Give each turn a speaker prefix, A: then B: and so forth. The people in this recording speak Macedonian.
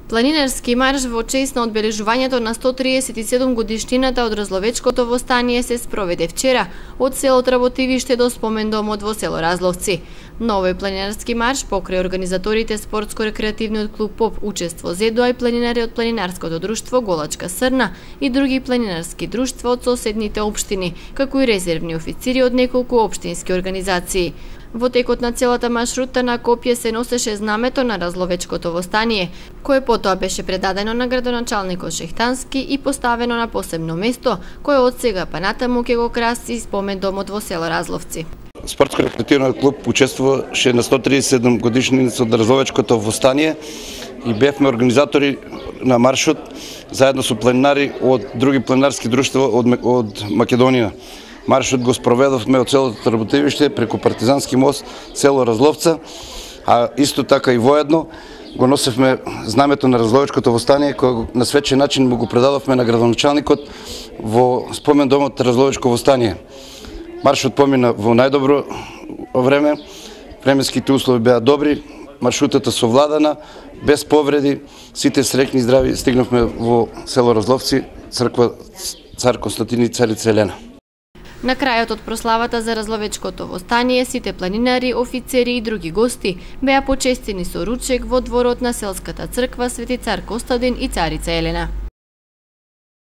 A: Планинарски марш во чест на одбележувањето на 137 годишнината од Разловечкото востание се спроведе вчера од село Работивиште до спомендомот во село Разловци. На овој планинарски марш покрај организаторите спортско-рекреативниот клуб ПОП учество ЗЕДО и планинари од планинарското друштво Голачка Срна и други планинарски друштва од соседните општини, како и резервни официри од неколку општински организации. Во текот на целата маршрута на копје се носеше знамето на Разловечкото востание, кое потоа беше предадено на градоначалникот Шехтански и поставено на посебно место, кое од сега па натаму ќе го краси спомендомот во село Разловци.
B: Спортско-рекреативниот клуб учествуваше на 137 годишница од Разловечкото востание и бевме организатори на маршот заедно со планинари од други планинарски друштва од Македонија. Маршот го спроведовме од селото Работивиште преку Партизански мост, село Разловца, а исто така и воедно го носевме знамето на Разловечкото востание, кој на свечен начин му го предадовме на градоначалникот во спомендомот Разловечко востание. Маршот помина во најдобро време, временските услови беа добри, маршрутата совладана, без повреди, сите среќни и здрави стигнавме во село Разловци, црква Цар Константин и Царица Елена.
A: На крајот од прославата за Разловечкото востание, сите планинари, офицери и други гости беа почестени со ручек во дворот на селската црква Свети Цар Костадин и Царица Елена.